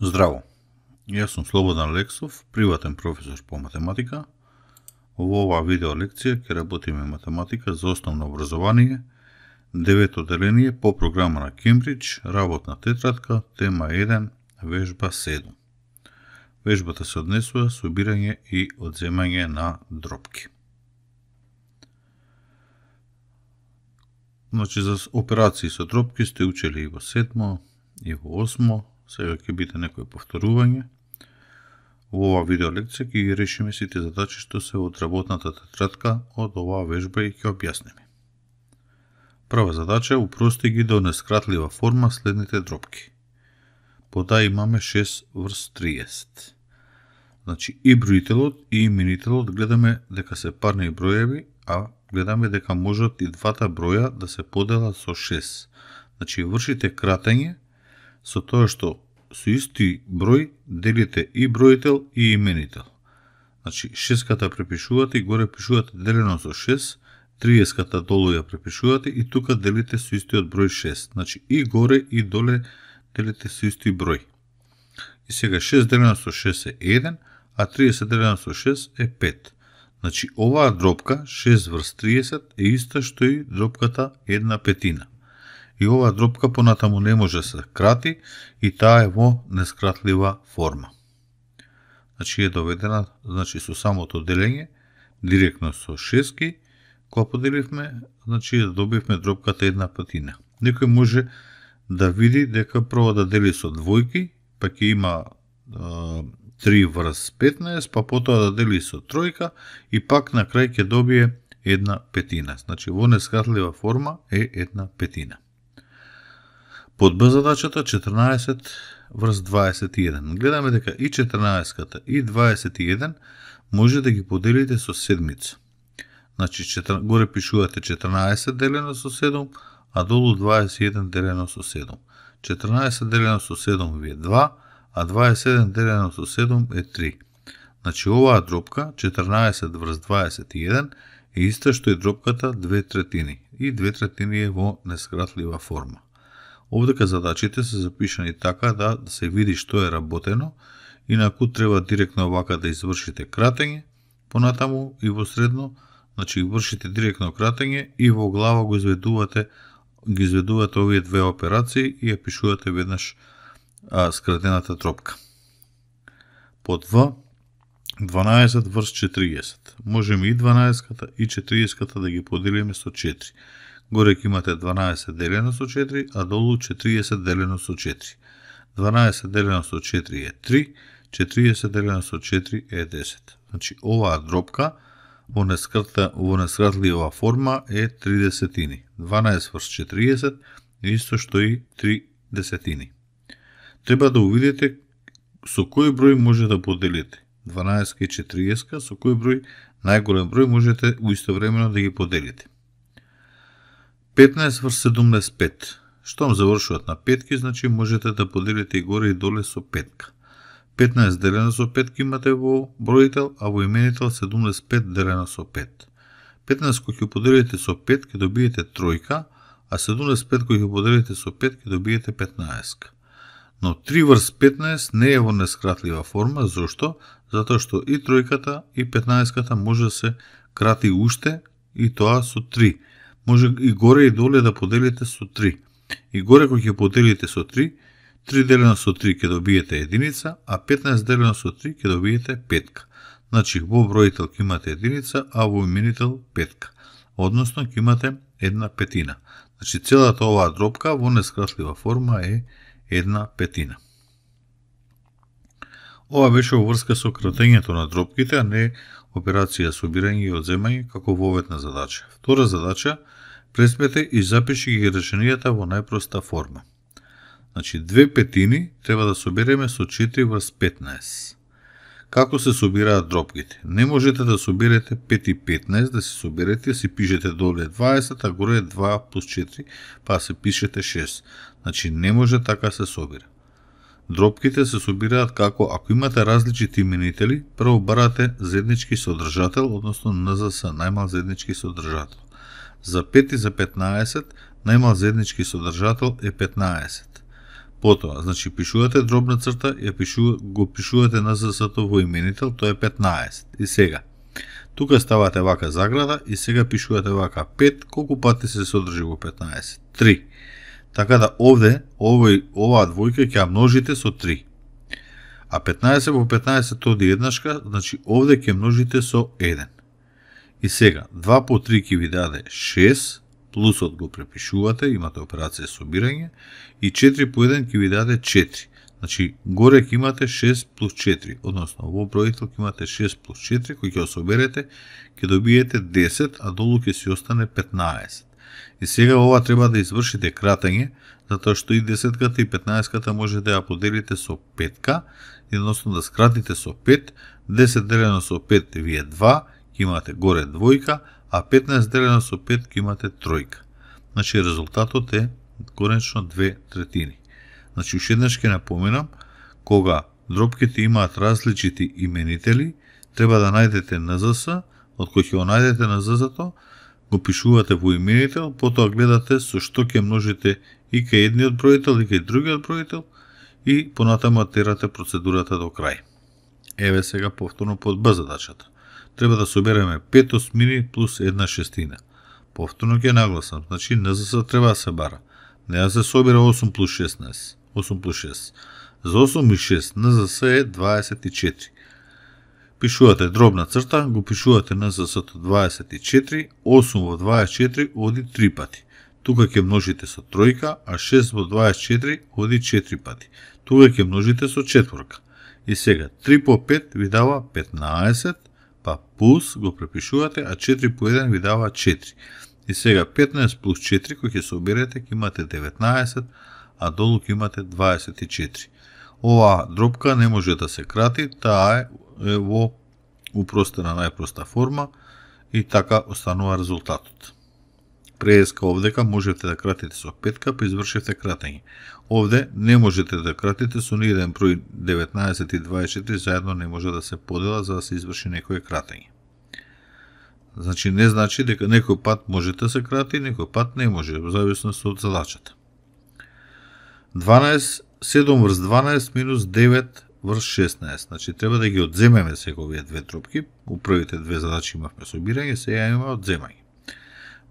Здраво, јас сум Слободан Лексов, приватен професор по математика. Во оваа видео лекција ќе работиме математика за основно образование, 9 одделение по програма на Кембридж, работна тетрадка, тема 1, вежба 7. Вежбата се однесува собирање и одземање на дропки. Значи, за операции со дропки сте учели и во 7 и во 8, сега ќе биде некој повторување. Во оваа видео лекција ќе ги решиме сите задачи што се од работната тетрадка од оваа вежба и ќе објасниме. Прва задача, упрости ги до нескратлива форма следните дропки. Пода имаме 6 врз 30. Значи и броителот и именителот гледаме дека се парни броеви, а гледаме дека можат и двата броја да се поделат со 6. Значи вршите кратење со тоа што со исти број делите и броител и именител. Значи 6-ката препишувате и горе пишувате делено со 6, 30-ката долу ја препишувате и тука делите со истиот број 6. Значи и горе и доле делите со исти број. И сега 6 делено со 6 е 1, а 30 делено со 6 е 5. Значи оваа дропка 6 врз 30 е иста што и дропката 1/5. И оваа дропка понатаму не може да се крати и таа е во нескратлива форма. Значи е доведена со самото делење, директно со 6-ки, кога поделивме, значи добивме дропката 1/5. Некој може да види дека прво да дели со двојки, па ќе има 3 врз 15, па потоа да дели со тројка и пак на крај ќе добие 1/5. Значи во нескратлива форма е 1/5. Под Б задачата 14 врз 21. Гледаме дека и 14-ката и 21 може да ги поделите со седмица. Значи горе пишувате 14 делено со 7, а долу 21 делено со 7. 14 делено со 7 ви е 2, а 27 делено со 7 е 3. Значи оваа дропка 14 врз 21 е иста што и дропката 2/3. И 2/3 е во нескратлива форма. Овдека задачите се запишани така да се види што е работено, инаку треба директно вака да извршите кратење, понатаму и во средно, значи вршите директно кратење и во глава ги изведувате овие две операции и ја пишувате веднаш скратената тропка. Под В 12 врз 40. Можеме и 12-ката и 40-ката да ги поделиме со 4. Горе ќе имате 12 делено со 4, а долу 40 делено со 4. 12 делено со 4 е 3, 40 делено со 4 е 10. Значи оваа дропка во нескратлива форма е 30. 12 врз 40 е исто што и 3/10. Треба да увидите со кој број може да поделите. 12 и 40, со кој број, најголем број можете уистовремено да ги поделите. 15 врз 75. Штом завршуваат на петки, значи можете да поделите и горе и доле со петка. 15 делено со 5 имате во броител, а во именител 75 делено со 5. 15 кој ќе поделите со 5 ќе добиете тројка, а 75 кој ќе поделите со 5 ќе добиете 15. Но 3 врз 15 не е во нескратлива форма, зошто? Затоа што и тројката и 15-ката може да се крати уште и тоа со 3. Може и горе и доле да поделите со 3. И горе кој ќе поделите со 3, 3 делено со 3 ќе добиете единица, а 15 делено со 3 ќе добиете петка. Значи во броител ќе имате единица, а во именител петка. Односно ќе имате 1/5. Значи целата оваа дропка во нескратлива форма е 1/5. Ова беше во врска со кратењето на дропките, а не операција собирање и одземање како воветна задача. Втора задача, пресмете и запиши ги решенијата во најпроста форма. Значи 2/5 треба да собереме со 4 врз 15. Како се собираат дропките? Не можете да соберете 5 и 15, да се соберете, си пишете доле 20, а горе 2 плюс 4, па се пишете 6. Значи не може така се собира. Дропките се собираат како ако имате различити именители, прво барате заеднички содржател, односно НЗС, најмал заеднички содржател. За 5 и за 15, најмал заеднички содржател е 15. Потоа, значи пишувате дробна црта, го пишувате НЗС-то во именител, тоа е 15. И сега, тука ставате вака заграда и сега пишувате вака 5, колку пати се содржи во 15? 3. Така да овде, оваа двојка ќе ја множите со 3. А 15 во 15 оди еднашка, значи овде ќе множите со 1. И сега, 2 по 3 ќе ви даде 6, плюсот го препишувате, имате операција собирање, и 4 по 1 ќе ви даде 4. Значи, горе ќе имате 6 плюс 4, односно, во бројител ќе имате 6 плюс 4, кој ќе го соберете, ќе добиете 10, а долу ќе си остане 15. И сега ова треба да извршите кратење, затоа што и 10-ката и 15-ката може да ја поделите со 5-ка, едносно да скратите со 5, 10 делено со 5 ви е 2, ќе имате горе двојка, а 15 делено со 5 ќе имате тројка. Значи резултатот е конечно 2/3. Значи уште еднаш ќе напоменам, кога дробките имаат различити именители, треба да најдете НЗС, од кој ќе го најдете НЗС-то, го пишувате во именител, потоа гледате со што ќе множите и кај едниот бројител и кај другиот бројител и понатаму терате процедурата до крај. Еве сега повторно под Б задачата. Треба да собереме 5 осмини плюс 1/6. Повторно ќе нагласам, значи НЗС треба да се бара. Не да се собира 8 плюс 16. 8 плюс 6. За 8 и 6 НЗС е 24. Пишувате дробна црта, го пишувате НЗС-то 24, 8 во 24 оди 3 пати. Тука ќе множите со тројка, а 6 во 24 оди 4 пати. Тука ќе множите со четворка. И сега 3 по 5 ви дава 15, па плюс го препишувате, а 4 по 1 ви дава 4. И сега 15 плюс 4 кој ќе соберете, ќе имате 19, а долу ќе имате 24. Оваа дробка не може да се крати, таа е во упростена најпроста форма и така останува резултатот. Преска овдека можете да кратите со 5, па извршите кратење. Овде не можете да кратите со ниеден број 19 и 24 заедно не може да се подела за да се изврши некое кратење. Значи не значи дека некој пат може да се крати, некој пат не може, во зависност од задачата. 7 врз 12 минус 9 врз 16. Значи треба да ги одземеме сега овие две тропки. У првите две задачи имавме собирање, сега имаме одземање.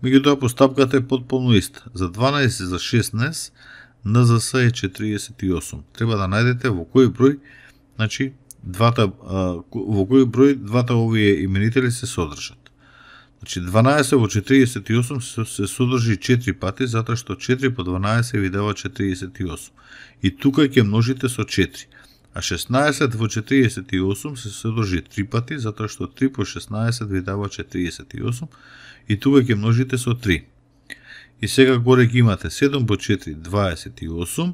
Меѓутоа постапката е потполно иста. За 12 и за 16 НЗС е 48. Треба да најдете во кој број, значи во кој број двата овие именители се содржат. Значи 12 во 48 се содржи 4 пати, затоа што 4 по 12 ви дава 48. И тука ќе множите со 4. А 16 во 48 се содржи 3 пати, затоа што 3 по 16 ви дава 48. И тука ќе множите со 3. И сега горе ги имате 7 по 4, 28,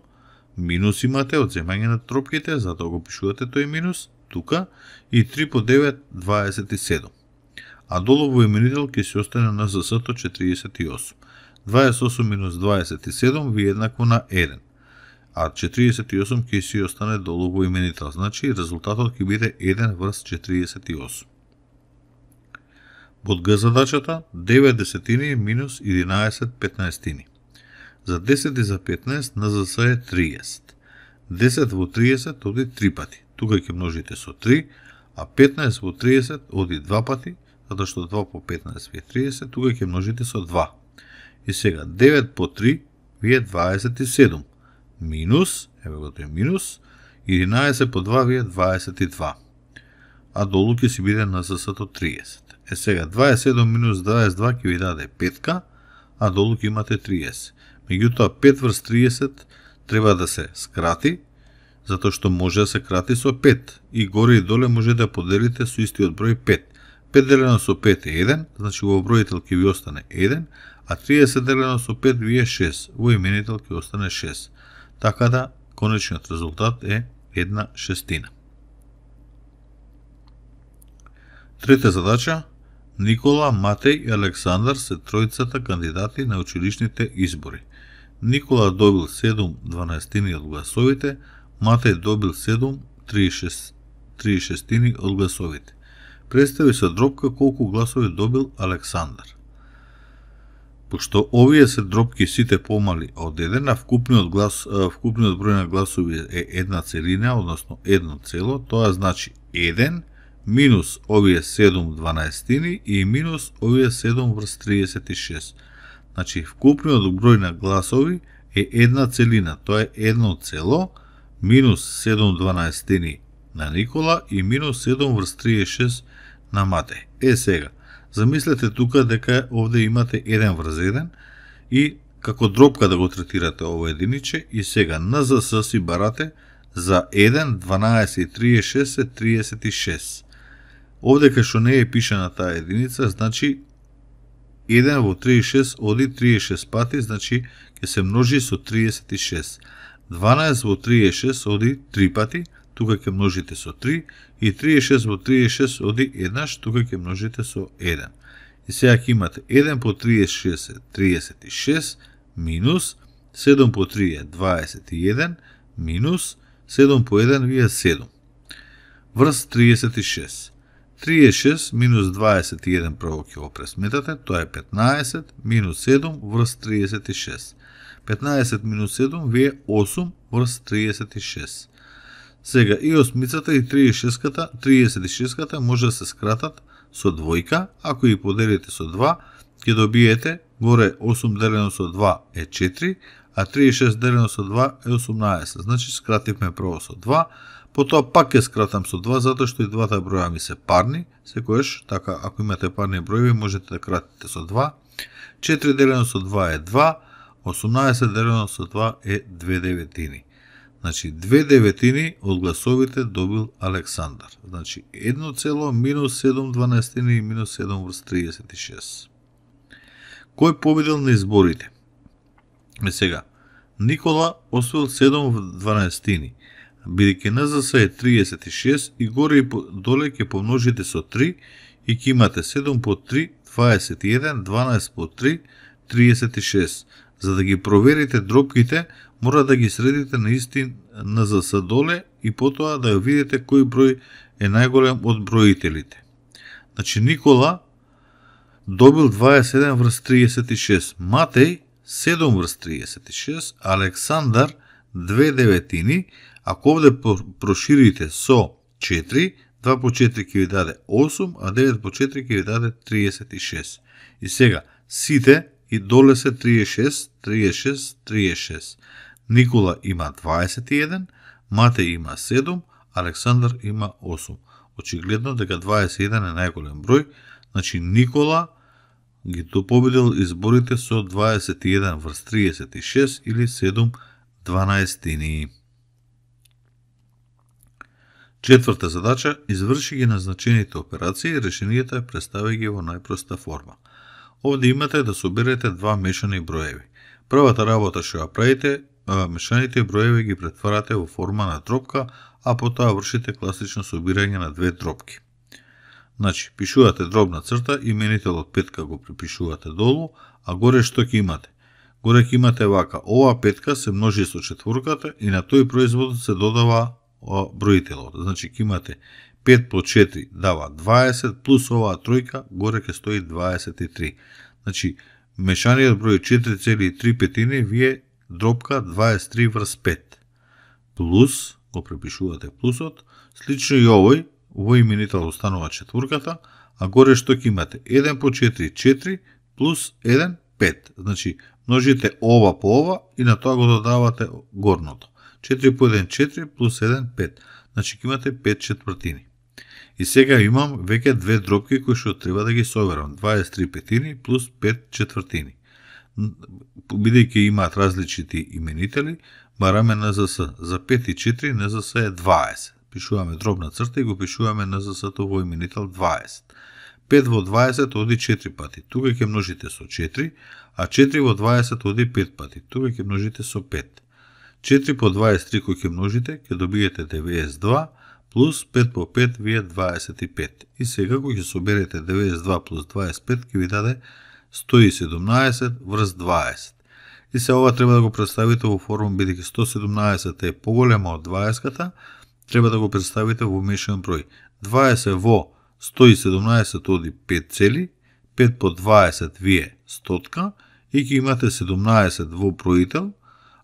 минус имате одземање на тропките, затоа го пишувате тој минус, тука, и 3 по 9, 27. А долу во именител ќе се остане на НЗС-то 48. 28 минус 27 ви еднакво на 1. А 48 ќе си остане долу во именител. Значи резултатот ќе биде 1 врз 48. Под Г задачата 9 десетини минус 11 петнаестини. За 10 и за 15 НЗС е 30. 10 во 30 оди 3 пати. Тука ќе множите со 3, а 15 во 30 оди 2 пати, затоа што 2 по 15 ви е 30, тука ќе множите со 2. И сега 9 по 3 ви е 27. Минус, еве го тој минус, 11 по 2 ви е 22. А долу ќе си биде НЗС-то 30. Е сега 27 минус 22 ќе ви даде 5, а долу ќе имате 30. Меѓутоа 5 врз 30 треба да се скрати, затоа што може да се крати со 5. И горе и доле може да поделите со истиот број 5. 5 делено со 5 е 1, значи во бројител ќе ви остане 1, а 30 делено со 5 ви е 6, во именител ќе остане 6. Така да, конечниот резултат е 1/6. Трета задача. Никола, Матеј и Александар се тројцата кандидати на училишните избори. Никола добил 7 12 од гласовите, Матеј добил 7 3/6 од гласовите. Представи се дробка колку гласови добил Александар. Пошто овие се дропки сите помали од 1, а вкупниот број на гласови е една целина, односно 1 цело, тоа значи 1 минус овие 7 12 и минус овие 7 врз 36. Значи, вкупниот број на гласови е една целина, тоа е 1 цело, минус 7 12 на Никола и минус 7 врз 36 на Матеј. Сега, замислете тука дека овде имате 1 врз 1 и како дропка да го третирате ово единиче и сега НЗС си барате за 1, 12 и 36 е 36. Овде кај што не е пишана таа единица, значи 1 во 36 оди 36 пати, значи ќе се множи со 36. 12 во 36 оди 3 пати, тука ќе множите со 3 и 36 во 36 оди еднаш, тука ќе множите со 1. И сега ќе имате 1 по 36 е 36 минус 7 по 3 е 21 минус 7 по 1 ви е 7 врз 36. 36 минус 21 право ќе го пресметате, тоа е 15 минус 7 врз 36. 15 минус 7 ви е 8 врз 36. Сега и осмицата и 36-ката може да се скратат со двојка, ако ги поделите со 2, ќе добиете горе 8 делено со 2 е 4, а 36 делено со 2 е 18. Значи скративме прво со 2, потоа пак ќе скратам со 2, затоа што и двата броја ми се парни, секојаш, така, ако имате парни броеви, можете да кратите со 2. 4 делено со 2 е 2, 18 делено со 2 е 2 деветини. Значи, 2 деветини од гласовите добил Александар. Значи, 1 цело минус 7 12 и минус 7 врз 36. Кој победил на изборите? Сега, Никола освоил 7 12, бидејќи НЗС е 36 и горе и доле ќе помножите со 3 и ќе имате 7 по 3, 21, 12 по 3, 36. За да ги проверите дропките, мора да ги средите на исти НЗС доле и потоа да видите кој број е најголем од броителите. Значи, Никола добил 27 врз 36, Матеј 7 врз 36, Александар 2 деветини, ако овде проширите со 4, 2 по 4 ќе ви даде 8, а 9 по 4 ќе ви даде 36. И сега, сите и доле се 36, 36, 36. Никола има 21, Матеј има 7, Александар има 8. Очигледно дека 21 е најголем број, значи Никола ги победил изборите со 21 врз 36 или 7 12. Четврта задача, изврши ги назначените операции и решението ја представи ги во најпроста форма. Овде имате да соберете два мешани броеви. Првата работа што ја правите, мешаните броеви ги претварате во форма на дропка, а потоа вршите класично собирање на две дропки. Значи, пишувате дробна црта, именителот петка го припишувате долу, а горе што ќе имате? Горе ќе имате вака, ова петка се множи со четворката и на тој производ се додава броителот. Значи, ќе имате 5 по 4 дава 20, плюс оваа тројка, горе ќе стои 23. Значи, мешаниот број 4,3 вие дропка 23 врз 5. Плюс, го препишувате плюсот, слично и овој именител останува четворката, а горе што ќе имате? 1 по 4, 4, плюс 1, 5. Значи, множите ова по ова и на тоа го додавате горното. 4 по 1, 4, плюс 1, 5. Значи, ќе имате 5 четвртини. И сега имам веќе две дропки кои што треба да ги соберам. 23 петини плюс 5 четвртини. Бидејќи имаат различити именители, бараме НЗС. За 5 и 4 НЗС е 20. Пишуваме дробна црта и го пишуваме НЗС-то во именител 20. 5 во 20 оди 4 пати. Тука ќе множите со 4, а 4 во 20 оди 5 пати. Тука ќе множите со 5. 4 по 23 кој ќе множите, ќе добиете 92, плюс 5 по 5 ви е 25. И сега кој ќе соберете 92 плюс 25 ќе ви даде 117 врз 20. И се ова треба да го представите во форма, бидејќи 117 е поголема од 20-ката, треба да го представите во мешан број. 20 во 117 оди 5 цели, 5 по 20 ви е 100, и ќе имате 17 во броител,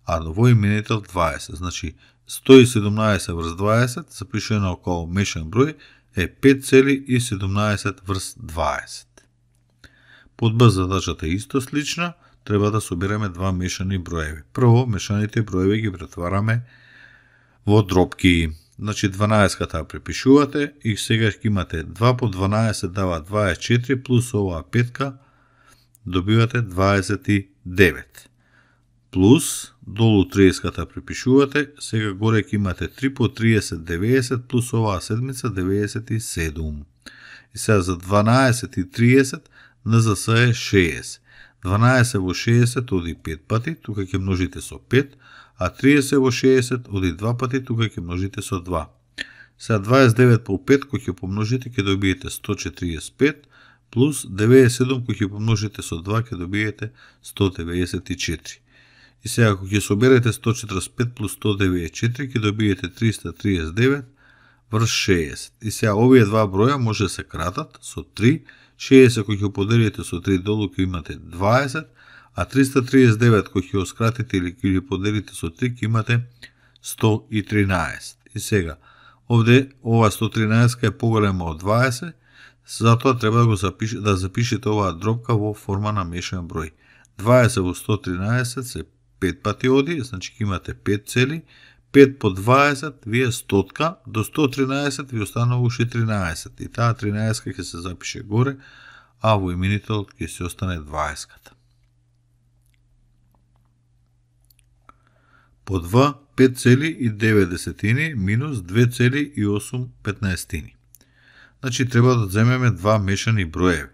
а во именител 20. Значи 117 врз 20 запишено како мешан број е 5,17 врз 20. Под Б задачата е исто слична, треба да собереме два мешани броеви. Прво, мешаните броеви ги претвараме во дробки. Значи 12-ката препишувате и сега ќе имате 2 по 12 дава 24 плюс оваа 5-ка добивате 29. Плюс долу 30-ката препишувате, сега горе ќе имате 3 по 30 90 плюс оваа седмица 97. И сега за 12 и 30 НЗС е 60. 12 во 60 оди 5 пати, тука ќе множите со 5, а 30 во 60 оди 2 пати, тука ќе множите со 2. Сега 29 по 5 кој ќе помножите ќе добиете 145, плюс 97 кој ќе помножите со 2 ќе добиете 194. И сега ако ќе соберете 145 плюс 194 ќе добиете 339 врз 60. И сега овие два броја може да се кратат со 3, 60 кој ќе поделите со 3 долу ќе имате 20, а 339 кој ќе скратите или ќе поделите со 3 ќе имате 113. И сега, овде ова 113 е поголема од 20, затоа треба да запишете оваа дробка во форма на мешан број. 20 во 113 се 5 пати оди, значи ќе имате 5 цели, 5 по 20 ви е 100, до 113 ви останува уште 13. И таа 13 ќе се запише горе, а во именителот ќе се остане 20-ката. Под В 5,9 минус 2,8. Значи треба да земеме два мешани броеви.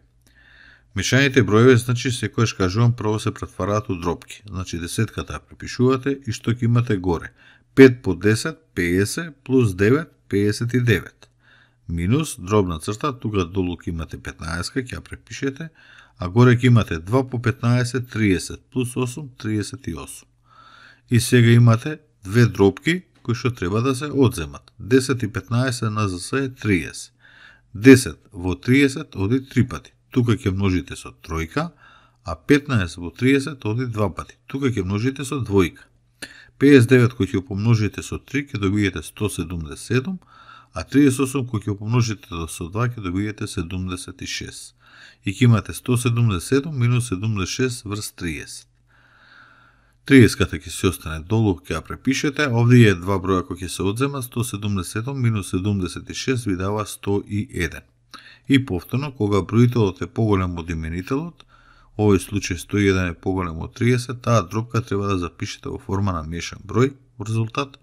Мешаните броеви, значи секојаш кажувам, прво се претвараат у дробки. Значи десетката препишувате и што ќе имате горе. 5 по 10, 50, плюс 9, 59. Минус, дробна црта, тука долу ќе имате 15, ќе ја препишете, а горе ќе имате 2 по 15, 30, плюс 8, 38. И сега имате две дробки кои што треба да се одземат. 10 и 15 на ЗС е 30. 10 во 30 оди 3 пати. Тука ќе множите со тројка, а 15 во 30 оди 2 пати. Тука ќе множите со двојка. 59 кој ќе помножите со 3 ќе добиете 177, а 38 кој ќе помножите со 2 ќе добиете 76. И ќе имате 177 минус 76 врз 30. 30-ката ќе се остане долу, ќе ја препишете. Овде е два броја кои ќе се одземат, 177 минус 76 ви дава 101. И повторно, кога броителот е поголем од именителот, овој случај 101 е поголем од 30, таа дробка треба да запишете во форма на мешан број. Во резултат,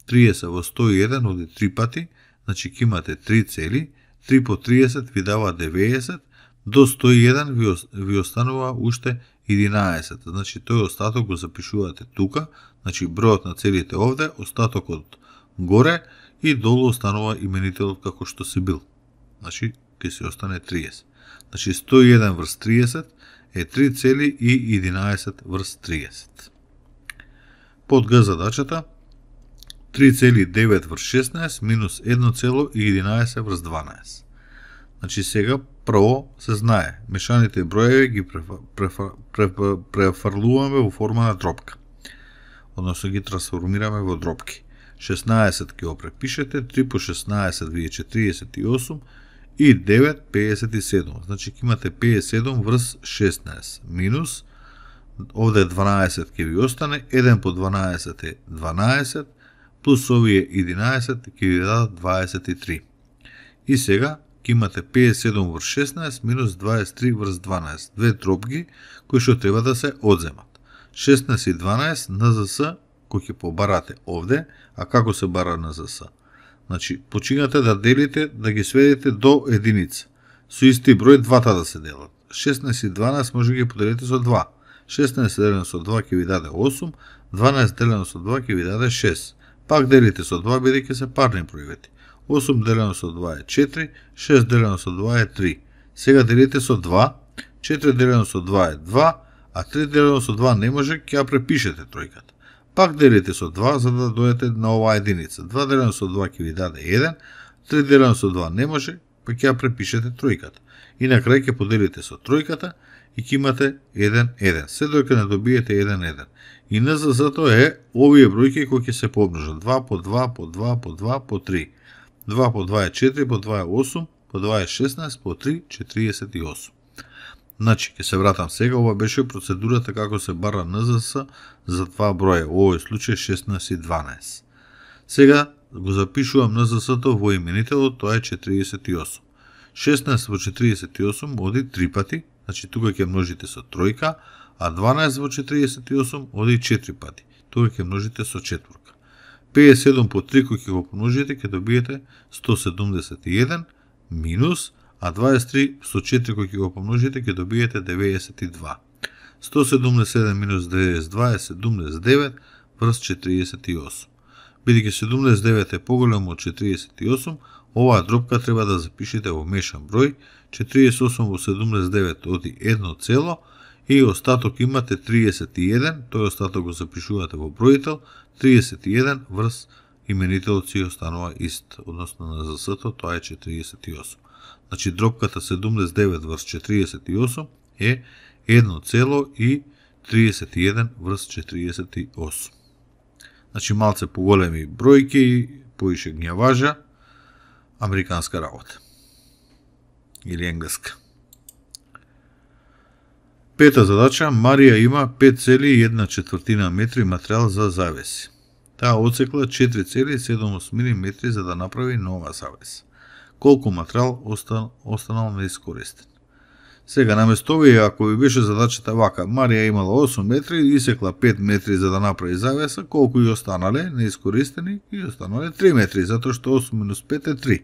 30 во 101 оди 3 пати, значи ќе имате 3 цели, 3 по 30 ви дава 90, до 101 ви останува уште 11. Значи тој остаток го запишувате тука, значи бројот на целите овде, остатокот горе и долу останува именителот како што се бил. Значи ќе се остане 30. Значи 101 врз 30 е 3,11 врз 30. Под Г задачата 3,9 врз 16 минус 1,11 врз 12. Значи сега прво се знае, мешаните броеви ги префрлуваме во форма на дробка. Односно ги трансформираме во дробки. 16 ќе го препишете, 3 по 16 ви е 48 и 9 57. Значи ќе имате 57 врз 16 минус, овде 12 ќе ви остане, 1 по 12 е 12, плюс овие 11 ќе ви дадат 23. И сега ќе имате 57 врз 16 минус 23 врз 12. Две дробки кои што треба да се одземат. 16 и 12 НЗС кои ќе побарате овде, а како се бара НЗС? Значи, починате да делите, да ги сведете до единица. Со исти број двата да се делат. 16 и 12 може да ги поделите со 2. 16 делено со 2 ќе ви даде 8, 12 делено со 2 ќе ви даде 6. Пак делите со 2 бидејќи се парни броеви. 8 делено со 2 е 4, 6 делено со 2 е 3. Сега делите со 2, 4 делено со 2 е 2, а 3 делено со 2 не може, ќе ја препишете тројката. Пак делите со 2 за да дојдете на оваа единица. 2 делено со 2 ќе ви даде 1, 3 делено со 2 не може, па ќе ја препишете тројката. И на крај ќе поделите со тројката и ќе имате 1-1. Се додека не добиете 1-1. И НЗС-то е овие бројки кои ќе се помножат. 2 по 2 по 2 по 2 по 3. 2 по 2 е 4, по 2 е 8, по 2 е 16, по 3 48. Значи, ќе се вратам сега, ова беше процедурата како се бара НЗС за два броја, во овој случај 16 и 12. Сега го запишувам НЗС-то во именителот, тоа е 48. 16 во 48 оди 3 пати, значи тука ќе множите со тројка, а 12 во 48 оди 4 пати, тука ќе множите со четворка. 57 по 3 кој ќе го помножите, ќе добиете 171 минус, а 23 со 4 кој ќе го помножите, ќе добиете 92. 177 минус 92 е 79 врз 48. Бидејќи 79 е поголемо од 48, оваа дробка треба да запишете во мешан број. 48 во 79 оди 1 цело и остаток имате 31, тој остаток го запишувате во бројител, 31 врз именителот си останува ист, односно на НЗС-то тоа е 48. Значи дробката 79 врз 48 е 1 цело и 31 врз 48. Значи малце поголеми бројки, поише гњаважа, американска работа. Или енглеска. Пета задача, Марија има 5,1 метри материјал за завеси. Таа одсекла 4,7 метри за да направи нова завеса. Колку материјал останал неискористен? Сега, наместо овие, ако ви беше задачата вака, Марија имала 8 метри и исекла 5 метри за да направи завеса, колку и останале неискористени, и останале 3 метри, затоа што 8 минус 5 е 3.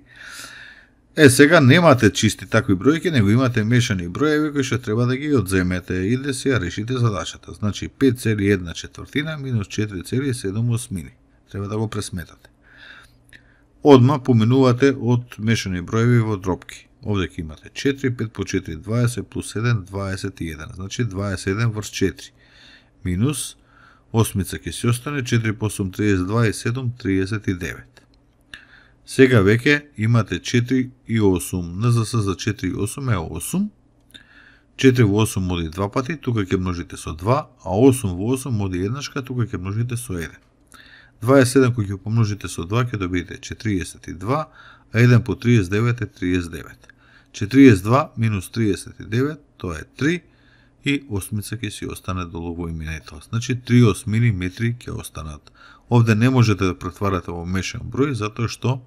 Сега немате чисти такви бројки, него имате мешани броеви кои што треба да ги одземете и да си ја решите задачата. Значи 5,1 минус 4,7. Треба да го пресметате. Одма поминувате од мешани броеви во дробки. Овде ќе имате 4, 5 по 4, 20, плюс 7, 21. Значи 21 врз 4. Минус, осмица ќе си остане, 4 по 8, 32 и 7, 39. Сега веќе имате 4 и 8. НЗС за 4 и 8 е 8. 4 во 8 оди 2 пати, тука ќе множите со 2, а 8 во 8 оди еднашка, тука ќе множите со 1. 27 кој ќе помножите со 2 ќе добиете 42, а 1 по 39 е 39. 42 минус 39, тоа е 3 и осмица ќе си остане долу во именителот. Значи 3 осмини метри ќе останат. Овде не можете да претварате во мешан број, затоа што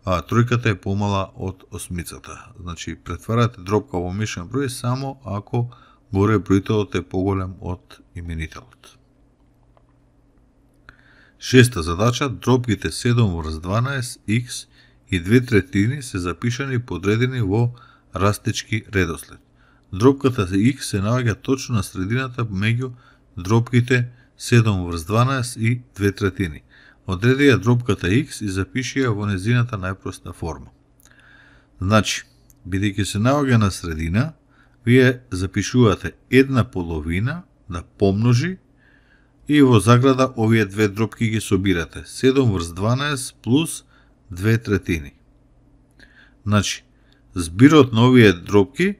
тројката е помала од осмицата. Значи претварате дробка во мешан број само ако горе бројителот е поголем од именителот. Шеста задача, дробките 7 врз 12, x и 2/3 се запишани подредени во растечки редослед. Дробката x се наоѓа точно на средината меѓу дробките 7 врз 12 и 2/3. Одреди ја дробката x и запиши ја во незината најпроста форма. Значи, бидејќи се наоѓа на средина, вие запишувате 1/2 да помножи и во заграда овие две дробки ги собирате. 7 врз 12 плюс 2/3. Значи, збирот на овие дробки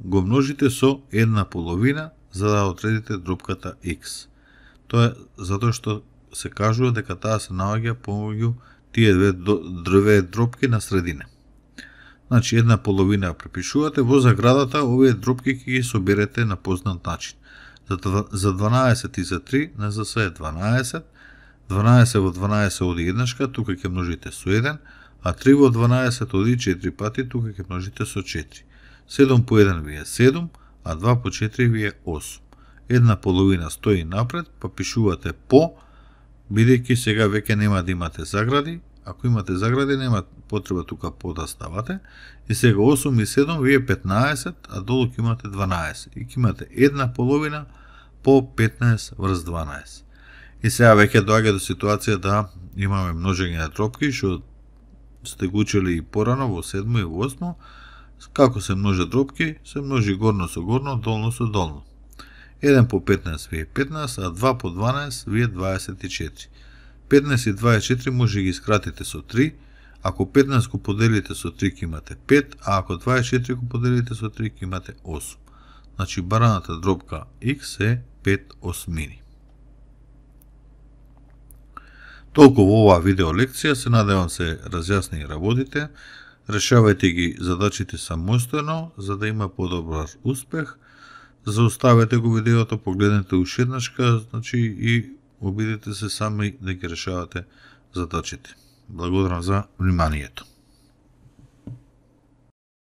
го множите со 1/2 за да одредите дробката x. Тоа е затоа што се кажува дека таа се наоѓа помеѓу тие две дробки на средина. Значи, 1/2 препишувате, во заградата овие дробки ќе ги соберете на познат начин. За 12 и за 3, НЗС е 12. 12 во 12 оди еднашка, тука ќе множите со 1, а 3 во 12 оди 4 пати, тука ќе множите со 4. 7 по 1 ви е 7, а 2 по 4 ви е 8. 1/2 стои напред, па пишувате по, бидејќи сега веќе нема да имате загради. Ако имате загради, нема потреба тука по да ставате. И сега 8 и 7 ви е 15, а долу ќе имате 12. И ќе имате 1/2 по 15 врз 12. И сега веќе доаѓа до ситуација да имаме множење на дробки, што сте го учели и порано во 7 и во 8. Како се множат дробки? Се множи горно со горно, долно со долно. 1 по 15 ви е 15, а 2 по 12 ви е 24. 15 и 24 може ги скратите со 3. Ако 15 го поделите со 3 ќе имате 5, а ако 24 го поделите со 3 ќе имате 8. Значи бараната дробка x е 5 осмини. Толку во оваа видео лекција, се надевам се разјасни и работите. Решавајте ги задачите самостојно, за да има подобар успех. Зауставете го видеото, погледнете уште еднашка, значи и обидете се сами да ги решавате задачите. Благодарам за вниманието.